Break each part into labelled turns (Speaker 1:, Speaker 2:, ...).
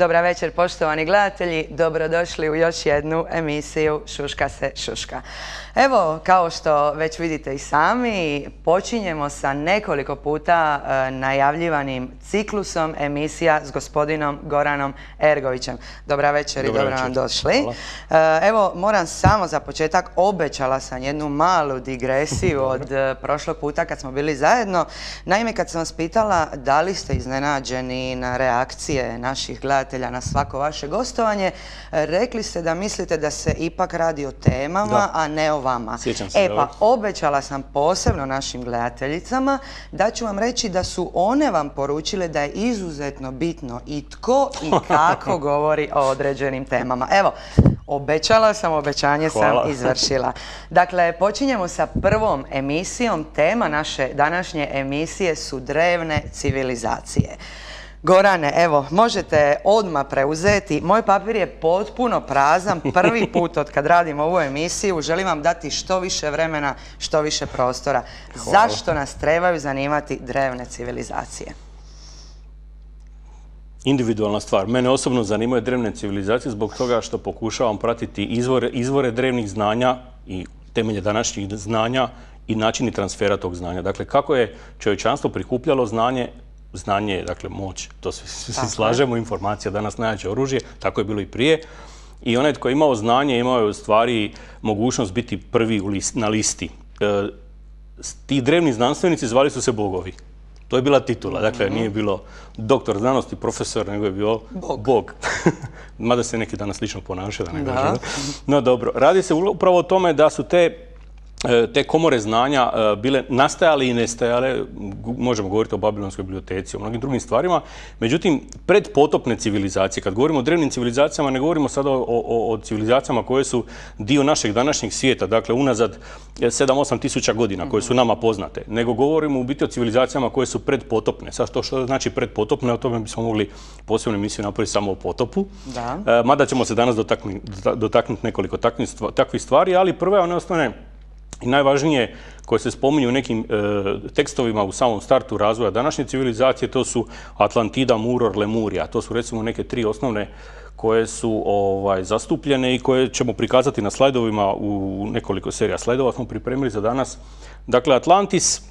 Speaker 1: Dobra večer, poštovani gledatelji. Dobrodošli u još jednu emisiju Šuška se šuška. Evo, kao što već vidite i sami, počinjemo sa nekoliko puta najavljivanim ciklusom emisija s gospodinom Goranom Ergovićem. Dobra večer i dobro nam došli. Evo, moram samo za početak, obećala sam jednu malu digresiju od prošlog puta kad smo bili zajedno. Naime, kad sam vas pitala da li ste iznenađeni na reakcije naših gledatelja na svako vaše gostovanje, rekli ste da mislite da se ipak radi o temama, a ne o vama. Pa obećala sam posebno našim gledateljicama da ću vam reći da su one vam poručile da je izuzetno bitno i tko i kako govori o određenim temama. Evo, obećala sam, obećanje sam izvršila. Dakle, počinjemo sa prvom emisijom. Tema naše današnje emisije su drevne civilizacije. Gorane, evo, možete odmah preuzeti. Moj papir je potpuno prazan, prvi put od kad radim ovu emisiju. Želim vam dati što više vremena, što više prostora. Zašto nas trebaju zanimati drevne civilizacije?
Speaker 2: Individualna stvar. Mene osobno zanimaju drevne civilizacije zbog toga što pokušavam pratiti izvore drevnih znanja i temelje današnjih znanja i načini transfera tog znanja. Dakle, kako je čovječanstvo prikupljalo znanje, znanje je, dakle, moć, to svi slažemo, informacija danas najjače oružje, tako je bilo i prije. I onaj tko je imao znanje, imao je u stvari mogućnost biti prvi na listi. Ti drevni znanstvenici zvali su se bogovi. To je bila titula, dakle, nije bilo doktor znanosti, profesor, nego je bio bog. Mada se neki danas slično ponašaju, da ne kažem. No dobro, radi se upravo o tome da su te komore znanja bile nastajale i nestajale, možemo govoriti o Babilonskoj biblioteci, o mnogim drugim stvarima, međutim, predpotopne civilizacije, kad govorimo o drevnim civilizacijama, ne govorimo sada o civilizacijama koje su dio našeg današnjeg svijeta, dakle, unazad 7-8 tisuća godina, koje su nama poznate, nego govorimo u biti o civilizacijama koje su predpotopne. Sad to što znači predpotopne, o tome bismo mogli posebnu emisiju napraviti samo o potopu, mada ćemo se danas dotaknuti nekoliko takvih stvari, ali prve one osnovne i najvažnije koje se spominju u nekim tekstovima u samom startu razvoja današnje civilizacije, to su Atlantida, Muror, Lemurija. To su recimo neke tri osnovne koje su zastupljene i koje ćemo prikazati na slajdovima u nekoliko serija slajdova smo pripremili za danas. Dakle, Atlantis,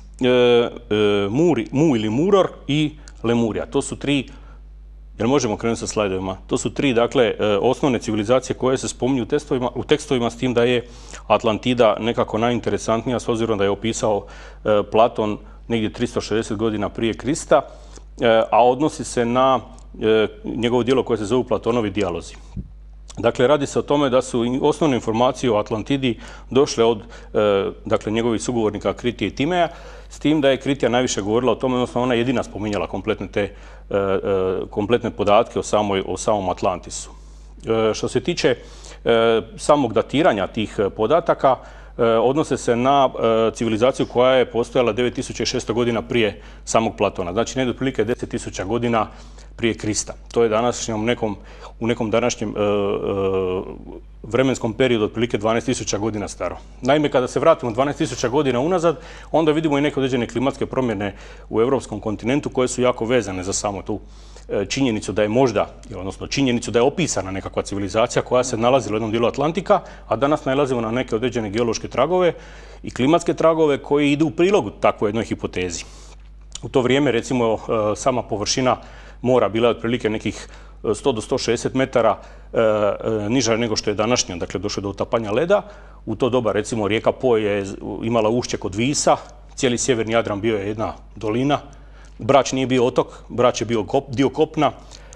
Speaker 2: Mu ili Muror i Lemurija. To su tri, jer možemo krenuti sa slajdovima, to su tri, dakle, osnovne civilizacije koje se spominju u tekstovima, s tim da je Atlantida nekako najinteresantnija s obzirom da je opisao Platon negdje 360 godina prije Krista, a odnosi se na njegovo djelo koje se zove Platonovi dijalozi. Dakle, radi se o tome da su osnovne informacije o Atlantidi došle od njegovih sugovornika Kritije i Timeja, s tim da je Kritija najviše govorila o tome, odnosno ona je jedina spominjala kompletne podatke o samom Atlantisu. Što se tiče samog datiranja tih podataka, odnose se na civilizaciju koja je postojala 9600 godina prije samog Platona. Znači, negdje otprilike 10.000 godina prije Krista. To je u nekom današnjem vremenskom periodu otprilike 12.000 godina staro. Naime, kada se vratimo 12.000 godina unazad, onda vidimo i neke određene klimatske promjene u europskom kontinentu koje su jako vezane za samo tu činjenicu da je činjenicu da je opisana nekakva civilizacija koja se nalazila u jednom dijelu Atlantika, a danas nalazimo na neke određene geološke tragove i klimatske tragove koji idu u prilog takvoj jednoj hipotezi. U to vrijeme, recimo, sama površina mora bila otprilike nekih 100 do 160 metara niža nego što je današnja, dakle došlo do utapanja leda. U to doba, recimo, rijeka Po je imala ušće kod Visa, cijeli sjeverni Jadran bio je jedna dolina, Brač nije bio otok, Brač je bio dio kopna.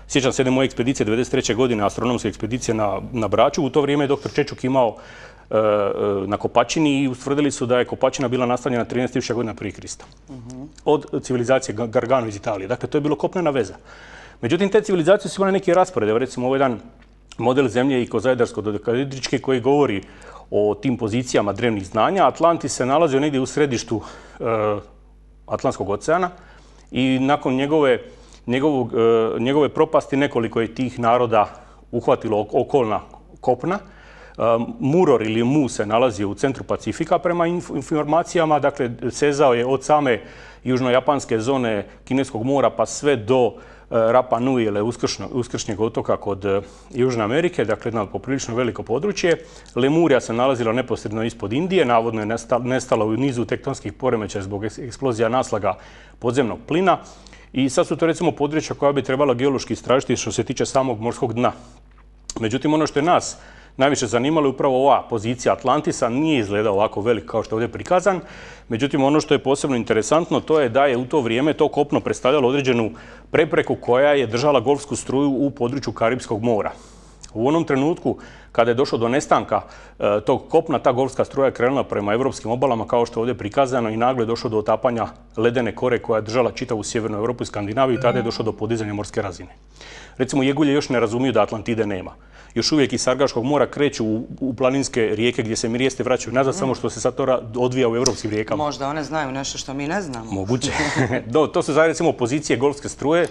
Speaker 2: Sjećam se jedne moje ekspedicije 1993. godine, astronomske ekspedicije na Braču. U to vrijeme je dr. Čečuk imao na Kopačini i ustvrdili su da je Kopačina bila nastavljena 13.000 godina prije Krista. Od civilizacije Gargano iz Italije. Dakle, to je bilo kopnena veza. Međutim, te civilizacije su imale neki raspored. Recimo, ovo je jedan model zemlje ikozaedarsko-dodekahedrički koji govori o tim pozicijama drevnih znanja. Atlantis se nalazio negdje u središtu Atlantskog oceana i nakon njegove propasti nekoliko je tih naroda uhvatilo okolna kopna. Muror ili Mu se nalazi u centru Pacifika prema informacijama, dakle sezao je od same južnojapanske zone Kineskog mora pa sve do Rapa Nui ili Uskršnjeg otoka kod Južne Amerike, dakle jedno poprilično veliko područje. Lemurija se nalazila neposredno ispod Indije, navodno je nestala u nizu tektonskih poremećaja zbog eksplozija naslaga podzemnog plina. I sad su to recimo područja koja bi trebala geološki istražiti što se tiče samog morskog dna. Međutim, ono što je nas najviše zanimalo je upravo ova pozicija Atlantisa, nije izgledao ovako velik kao što je ovdje prikazan. Međutim, ono što je posebno interesantno to je da je u to vrijeme to kopno predstavljalo određenu prepreku koja je držala golfsku struju u području Karipskog mora. U onom trenutku kada je došlo do nestanka tog kopna, ta golfska struja je krenula prema evropskim obalama kao što je ovdje prikazano i naglo je došlo do otapanja ledene kore koja je držala čitavu sjevernu Europu i Skandinaviju i tada je došlo do podizanja morske razine. Recimo, jegulje još ne razumiju da Atlantide nema. Još uvijek iz Sargaškog mora kreću u planinske rijeke gdje se mirijeste vraćaju nazad, samo što se sad to odvija u europskim rijekama.
Speaker 1: Možda one znaju nešto što mi ne znamo.
Speaker 2: Moguće. To su recimo pozicije golfske struje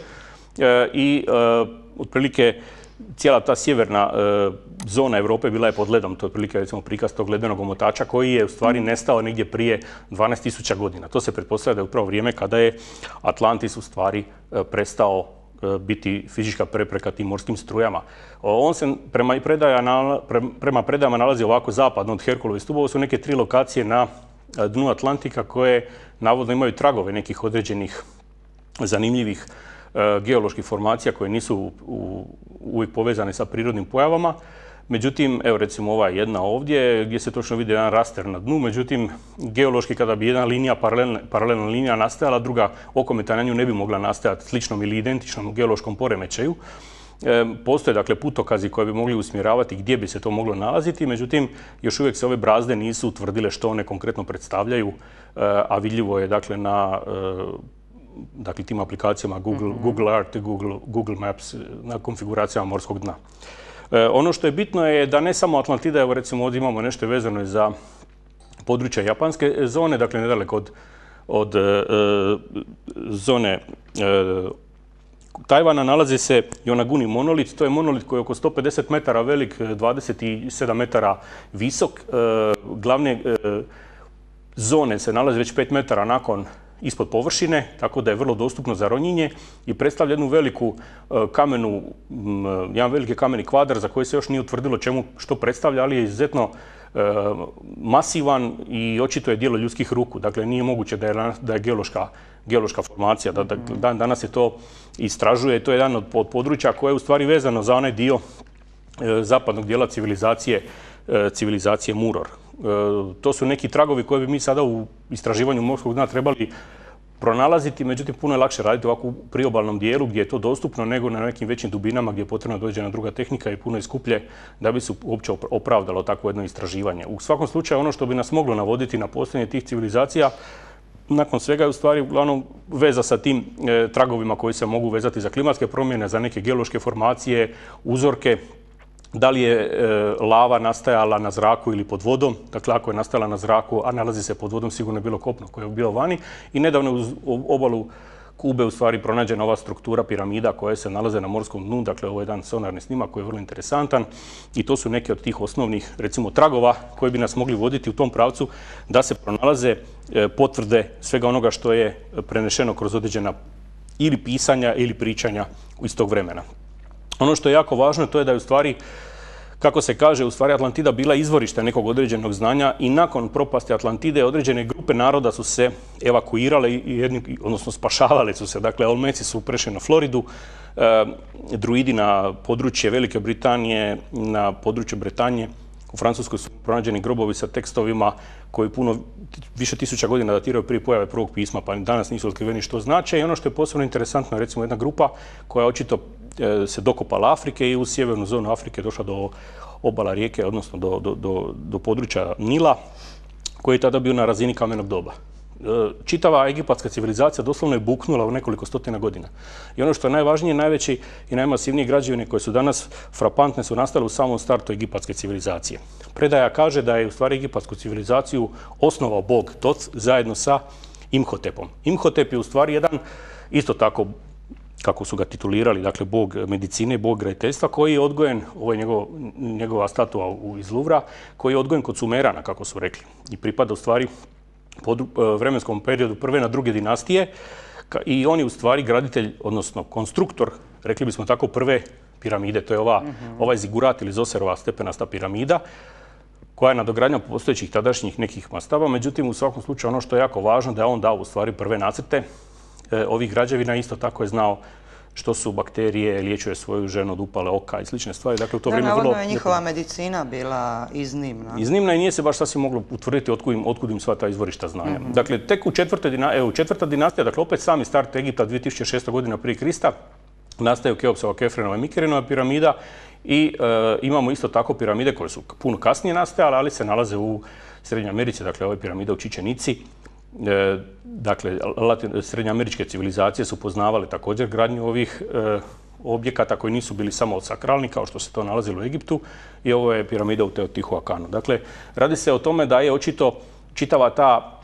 Speaker 2: i otprilike cijela ta sjeverna zona Europe bila je pod ledom. To je otprilike recimo prikaz tog ledenog omotača koji je u stvari nestao negdje prije 12.000 godina. To se pretpostavlja da je upravo vrijeme kada je Atlantis u stvari prestao biti fizička prepreka tim morskim strujama. On se prema predajama nalazi ovako zapadno od Herkulovih stubova. Ovo su neke 3 lokacije na dnu Atlantika koje navodno imaju tragove nekih određenih zanimljivih geoloških formacija koje nisu uvijek povezane sa prirodnim pojavama. Međutim, evo recimo ova jedna ovdje gdje se točno vidi jedan raster na dnu, međutim geološki kada bi jedna linija, paralelna linija nastajala, druga okometa na nju ne bi mogla nastajati sličnom ili identičnom geološkom poremećaju. Postoje dakle putokazi koji bi mogli usmjeravati gdje bi se to moglo nalaziti, međutim još uvijek se ove brazde nisu utvrdile što one konkretno predstavljaju, a vidljivo je dakle na tim aplikacijama Google Earth i Google Maps na konfiguracijama morskog dna. Ono što je bitno je da ne samo Atlantida, evo recimo ovdje imamo nešto vezano za područja japanske zone, dakle nedaleko od zone Tajvana nalazi se Yonaguni monolit. To je monolit koji je oko 150 metara velik, 27 metara visok. Glavne zone se nalaze već 5 metara ispod površine, tako da je vrlo dostupno za ronjenje i predstavlja jednu veliku jedan veliki kameni kvadar za koji se još nije utvrdilo što predstavlja, ali je izuzetno masivan i očito je djelo ljudskih ruku. Dakle, nije moguće da je geološka formacija. Danas se to istražuje. To je jedan od područja koje je u stvari vezano za onaj dio zapadnog dijela civilizacije Muror. To su neki tragovi koje bi mi sada u istraživanju morskog dna trebali pronalaziti, međutim puno je lakše raditi ovako u priobalnom dijelu gdje je to dostupno nego na nekim većim dubinama gdje je potrebno dođe na druga tehnika i puno je skuplje da bi se uopće opravdalo takvo jedno istraživanje. U svakom slučaju ono što bi nas moglo navoditi na postojanje tih civilizacija nakon svega je u stvari uglavnom veza sa tim tragovima koji se mogu vezati za klimatske promjene, za neke geološke formacije, uzorke. Da li je lava nastajala na zraku ili pod vodom, dakle ako je nastajala na zraku, a nalazi se pod vodom, sigurno je bilo kopno koje je bilo vani. I nedavno uz obalu Kube u stvari pronađena ova struktura piramida koje se nalaze na morskom dnu, dakle ovo je jedan sonarni snimak koji je vrlo interesantan i to su neke od tih osnovnih recimo tragova koji bi nas mogli voditi u tom pravcu da se pronalaze potvrde svega onoga što je prenešeno kroz određena ili pisanja ili pričanja iz tog vremena. Ono što je jako važno to je da je u stvari, kako se kaže, u stvari Atlantida bila izvorište nekog određenog znanja i nakon propasti Atlantide određene grupe naroda su se evakuirale, odnosno spašavale su se. Dakle, Olmeci su prešli na Floridu, druidi na područje Velike Britanije, na području Bretanje. U Francuskoj su pronađeni grobovi sa tekstovima koji puno više tisuća godina datiraju prije pojave prvog pisma, pa danas nisu otkriveni što znače. I ono što je posebno interesantno je recimo jedna grupa koja očito se dokopala Afrike i u sjevernu zonu Afrike došla do obala rijeke, odnosno do područja Nila, koji je tada bio na razini kamenog doba. Čitava egipatska civilizacija doslovno je buknula u nekoliko stotina godina. I ono što je najvažnije, najveći i najmasivnije građevine koje su danas frapantne su nastale u samom startu egipatske civilizacije. Predaja kaže da je u stvari egipatsku civilizaciju osnovao bog Tot zajedno sa Imhotepom. Imhotep je u stvari jedan isto tako kako su ga titulirali, dakle bog medicine, bog graditeljstva, koji je odgojen, ovo je njegova statua iz Luvra, koji je odgojen kod Sumerana, kako su rekli. I pripada u stvari pod vremenskom periodu prve na druge dinastije i on je u stvari graditelj, odnosno konstruktor, rekli bismo tako, prve piramide. To je ovaj zigurat ili Zoserova stepenasta piramida, koja je nadogradnja postojećih tadašnjih nekih mastaba. Međutim, u svakom slučaju ono što je jako važno da je on dao u stvari prve nacrte ovih građevina. Isto tako je znao što su bakterije, liječuje svoju ženu od upale oka i slične stvari. Dakle, u to vrijeme
Speaker 1: navodno je njihova medicina bila iznimna.
Speaker 2: Iznimna i nije se baš sasvim moglo utvrditi otkud im sva ta izvorišta znanja. Dakle, tek u četvrta dinastija, dakle opet sami start Egipta 2600 godina prije Krista, nastaju Keopsova, Kefrenova i Mikerenova piramida i imamo isto tako piramide koje su puno kasnije nastajale, ali se nalaze u Srednjoj Americi, dakle ove piramide u Čičenici. Dakle, srednjoameričke civilizacije su poznavale također gradnju ovih objekata koji nisu bili samo sakralni, kao što se to nalazilo u Egiptu, i ovo je piramida u Teotihuacanu. Dakle, radi se o tome da je očito čitava ta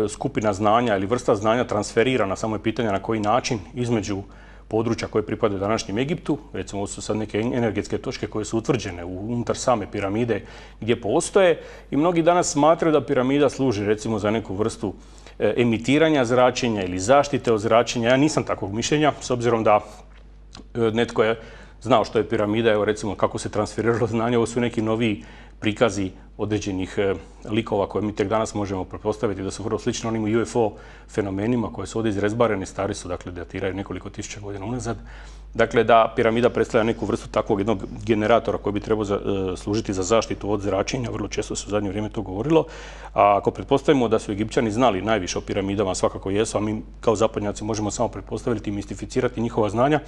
Speaker 2: skupina znanja ili vrsta znanja transferirana, samo je pitanje na koji način, između područja koje pripadaju današnjem Egiptu. Recimo, ovo su sad neke energetske točke koje su utvrđene unutar same piramide gdje postoje i mnogi danas smatraju da piramida služi recimo za neku vrstu emitiranja zračenja ili zaštite od zračenja. Ja nisam takvog mišljenja, s obzirom da netko je znao što je piramida, evo recimo kako se transferiralo znanje, ovo su neki noviji prikazi određenih likova koje mi tek danas možemo pretpostaviti da su vrlo slični onim UFO fenomenima koje su ovdje izrezbareni, stari su, dakle datiraju nekoliko tisuća godina unazad. Dakle, da piramida predstavlja neku vrstu takvog jednog generatora koji bi trebao služiti za zaštitu od zračenja, vrlo često se u zadnje vrijeme to govorilo. A ako pretpostavimo da su Egipćani znali najviše o piramidama, svakako jesu, a mi kao zapadnjaci možemo samo pretpostaviti i mistificirati njihova znanja,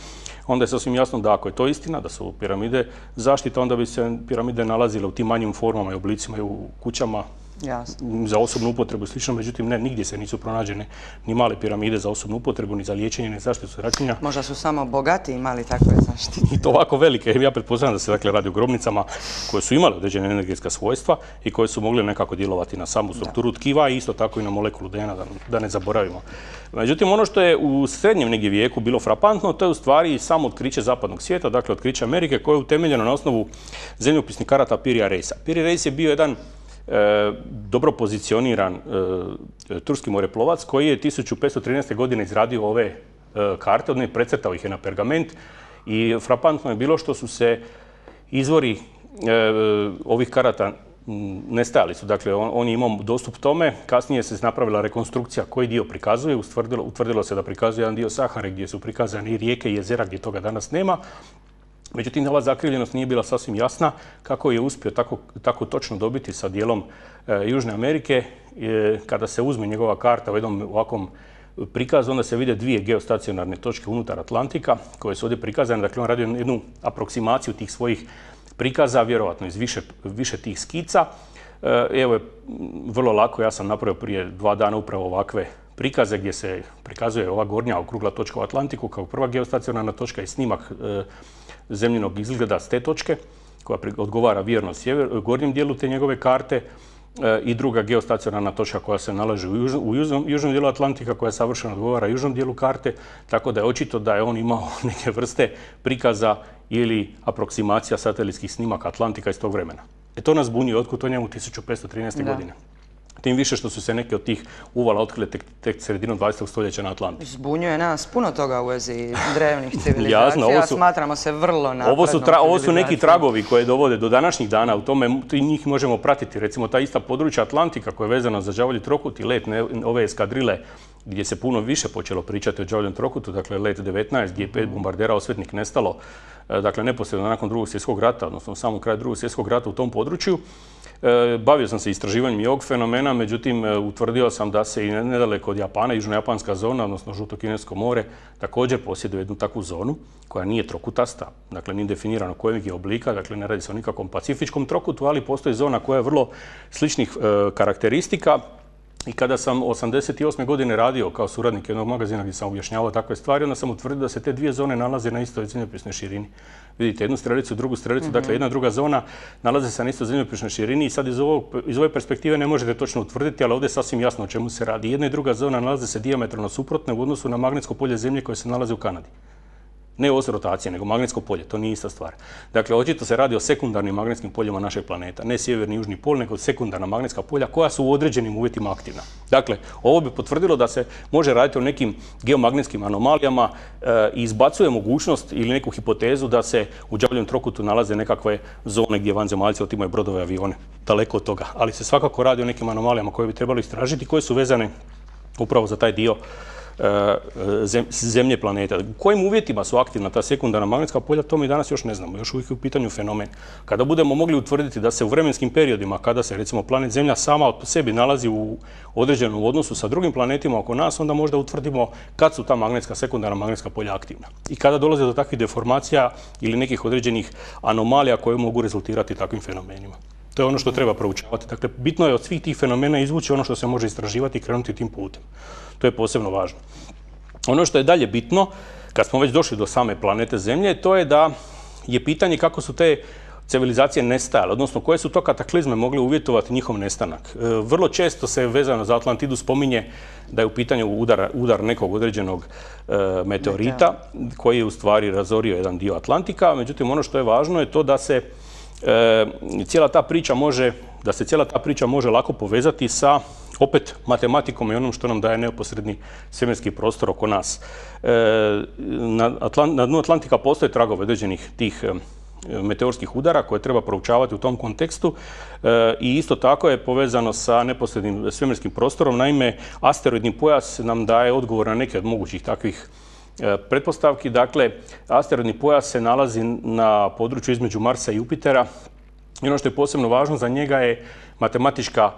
Speaker 2: onda je sasvim jasno da ako je to istina, da su piramide zaštita, onda bi se piramide nalazile u tim manjim formama i oblicima i u kućama. Jasno. Za osobnu upotrebu i slično, međutim ne, nigdje se nisu pronađene ni male piramide za osobnu upotrebu, ni za liječenje, ni zaštitu zračenja.
Speaker 1: Možda su samo bogati imali takve zaštite.
Speaker 2: I to ovako velike. Ja pretpostavljam da se dakle radi o grobnicama koje su imale određene energetska svojstva i koje su mogle nekako djelovati na samu strukturu tkiva i isto tako i na molekulu DNA, da ne zaboravimo. Međutim, ono što je u srednjem negdje vijeku bilo frapantno, to je u stvari samo otkriće zapadnog svijeta, dakle otkriće Amerike, koje je utemeljeno na osnovu zemljopisnih karata Pirija Reisa. Pirija Reis je bio jedan dobro pozicioniran turski moreplovac koji je 1513. godine izradio ove karte, odnosno precrtao ih je na pergament i frapantno je bilo što su se izvori ovih karata nestajali su. Dakle, on je imao dostup tome, kasnije se napravila rekonstrukcija koji dio prikazuje, utvrdilo se da prikazuje jedan dio Sahare gdje su prikazane i rijeke i jezera gdje toga danas nema. Međutim, ova zakrivljenost nije bila sasvim jasna kako je uspio tako točno dobiti sa dijelom Južne Amerike. Kada se uzme njegova karta u jednom ovakvom prikazu, onda se vide dvije geostacionarne točke unutar Atlantika koje su ovdje prikazane. Dakle, on radio jednu aproksimaciju tih svojih prikaza, vjerovatno iz više tih skica. Evo je vrlo lako, ja sam napravio prije 2 dana upravo ovakve prikaze gdje se prikazuje ova gornja okrugla točka u Atlantiku kao prva geostacionarna točka i snimak zemljinog izgleda s te točke koja odgovara vjerno gornjem dijelu te njegove karte i druga geostacionarna točka koja se nalazi u južnom dijelu Atlantika koja savršeno odgovara južnom dijelu karte, tako da je očito da je on imao neke vrste prikaza ili aproksimacija satelitskih snimaka Atlantika iz tog vremena. To nas bunije otkud to njemu 1513. godine. Tim više što su se neke od tih uvala otkrile tek sredinom 20. stoljeća na Atlantiku.
Speaker 1: Zbunjuje nas puno toga u vezi drevnih civilizacija. Smatramo se vrlo naprednom
Speaker 2: Ovo su neki tragovi koje dovode do današnjih dana. U tome njih možemo pratiti. Recimo ta ista područja Atlantika koja je vezana za đavolji trokut i let ove eskadrile gdje se puno više počelo pričati o đavoljem trokutu, dakle let 19 gdje je 5 bombardera osvetnik nestalo, dakle neposredno nakon Drugog svjetskog rata, odnosno u samom kraju Drugog svjetskog rata u tom području. Bavio sam se istraživanjem i ovog fenomena, međutim utvrdio sam da se i nedaleko od Japana, južno-japanska zona, odnosno Žuto-kinesko more, također posjeduje jednu takvu zonu koja nije trokutasta, dakle nije definirano kojeg je oblika, dakle ne radi se o nikakvom pacifičkom trokutu, ali postoji zona koja je vrlo sličnih karakteristika I kada sam 88. godine radio kao suradnik jednog magazina gdje sam objašnjavao takve stvari, onda sam utvrdio da se te dvije zone nalaze na istoj zemljopisnoj širini. Vidite, jednu strelicu, drugu strelicu, dakle jedna druga zona nalaze se na istoj zemljopisnoj širini i sad iz ove perspektive ne možete točno utvrditi, ali ovdje je sasvim jasno o čemu se radi. Jedna i druga zona nalaze se dijametralno suprotne u odnosu na magnetsko polje Zemlje koje se nalazi u Kanadi. Ne os rotacije, nego magnetsko polje, to nije ista stvar. Dakle, očito se radi o sekundarnim magnetskim poljima našeg planeta. Ne sjeverni i južni pol, nego sekundarna magnetska polja koja su u određenim uvjetima aktivna. Dakle, ovo bi potvrdilo da se može raditi o nekim geomagnetskim anomalijama i izbacuje mogućnost ili neku hipotezu da se u đavljem trokutu nalaze nekakve zone gdje vanzemaljci otimaju brodove i avione. Daleko od toga. Ali se svakako radi o nekim anomalijama koje bi trebalo istražiti, koje su vezane upravo za taj dio Zemlje planeta. U kojim uvjetima su aktivna ta sekundarna magnetska polja, to mi danas još ne znamo. Još uvijek je u pitanju fenomen. Kada budemo mogli utvrditi da se u vremenskim periodima, kada se recimo planet Zemlja sama od sebi nalazi u određenom odnosu sa drugim planetima oko nas, onda možda utvrdimo kad su ta sekundarna magnetska polja aktivna. I kada dolaze do takvih deformacija ili nekih određenih anomalija koje mogu rezultirati takvim fenomenima. To je ono što treba proučavati. Dakle, bitno je od svih tih fenomena izvući ono što se može istraživati i krenuti tim putem. To je posebno važno. Ono što je dalje bitno, kad smo već došli do same planete Zemlje, to je da je pitanje kako su te civilizacije nestajale, odnosno koje su to kataklizme mogle uvjetovati njihov nestanak. Vrlo često se vezano za Atlantidu spominje da je u pitanju udar nekog određenog meteorita koji je u stvari razorio jedan dio Atlantika. Međutim, ono što je važno je to da se cijela ta priča može lako povezati sa opet matematikom i onom što nam daje neposredni svemirski prostor oko nas. Na dnu Atlantika postoje tragovi određenih tih meteorskih udara koje treba proučavati u tom kontekstu i isto tako je povezano sa neposrednim svemirskim prostorom. Naime, asteroidni pojas nam daje odgovor na neke od mogućih takvih pretpostavki. Dakle, asteroidni pojas se nalazi na području između Marsa i Jupitera i ono što je posebno važno za njega je matematička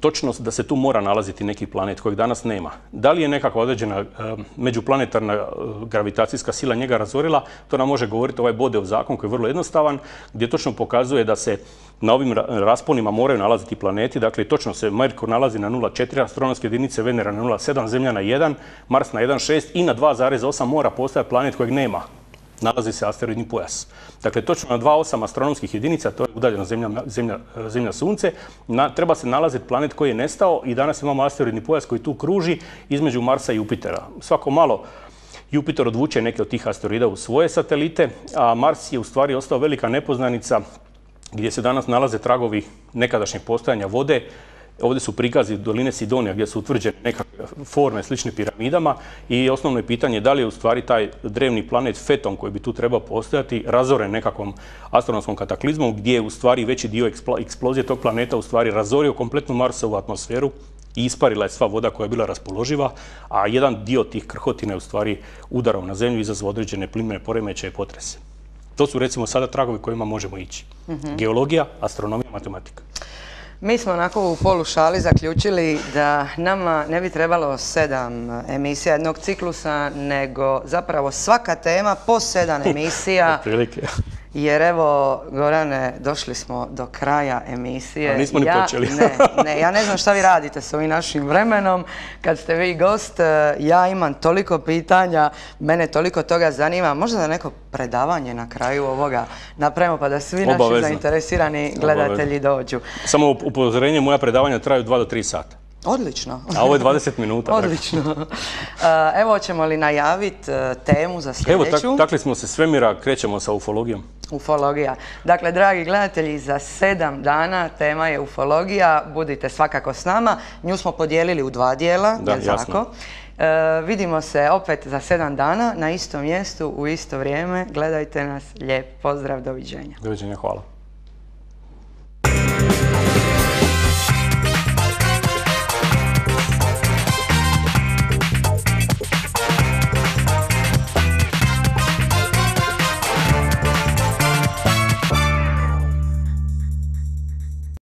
Speaker 2: točnost da se tu mora nalaziti neki planet kojeg danas nema. Da li je nekakva određena međuplanetarna gravitacijska sila njega razorila, to nam može govoriti ovaj Bodeov zakon koji je vrlo jednostavan, gdje točno pokazuje da se na ovim rasponima moraju nalaziti planeti. Dakle, točno se Merkur nalazi na 0,4, astronomske jedinice Venera na 0,7, Zemlja na 1, Mars na 1,6 i na 2,8 mora postojati planet kojeg nema. Nalazi se asteroidni pojas. Dakle, točno na 2,8 astronomskih jedinica, to je udaljeno Zemlja Sunce, treba se nalaziti planet koji je nestao i danas imamo asteroidni pojas koji tu kruži između Marsa i Jupitera. Svako malo Jupiter odvuče neke od tih asteroida u svoje satelite, a Mars je u stvari ostao velika nepoznanica gdje se danas nalaze tragovi nekadašnjeg postojanja vode. Ovdje su prikazi doline Sidonija gdje su utvrđene nekakve forme slične piramidama i osnovno je pitanje da li je u stvari taj drevni planet Feton koji bi tu trebao postojati razoren nekakvom astronomskom kataklizmom gdje je u stvari veći dio eksplozije tog planeta u stvari razorio kompletnu Marsovu atmosferu i isparila je sva voda koja je bila raspoloživa, a jedan dio tih krhotina je u stvari udarom na Zemlju izazvao određene plimene poremećaje i potrese. To su recimo sada tragovi kojima možemo ići. Geologija, astronomija, matematika.
Speaker 1: Mi smo onako u polušali zaključili da nama ne bi trebalo 7 emisija jednog ciklusa, nego zapravo svaka tema po 7 emisija. Jer evo, Gorane, došli smo do kraja emisije.
Speaker 2: A nismo ni počeli.
Speaker 1: Ja ne znam šta vi radite s ovim našim vremenom. Kad ste vi gost, ja imam toliko pitanja, mene toliko toga zanima. Možda da neko predavanje na kraju ovoga napravimo pa da svi naši zainteresirani gledatelji dođu.
Speaker 2: Samo upozorenje, moja predavanja traju 2 do 3 sata.
Speaker 1: Odlično.
Speaker 2: A ovo je 20 minuta.
Speaker 1: Odlično. Evo, hoćemo li najaviti temu za sljedeću?
Speaker 2: Evo, takli smo se svemira, krećemo sa ufologijom.
Speaker 1: Ufologija. Dakle, dragi gledatelji, za 7 dana tema je ufologija. Budite svakako s nama. Nju smo podijelili u 2 dijela.
Speaker 2: Da, jasno.
Speaker 1: Vidimo se opet za 7 dana na istom mjestu, u isto vrijeme. Gledajte nas. Lijep pozdrav, doviđenja.
Speaker 2: Doviđenja, hvala.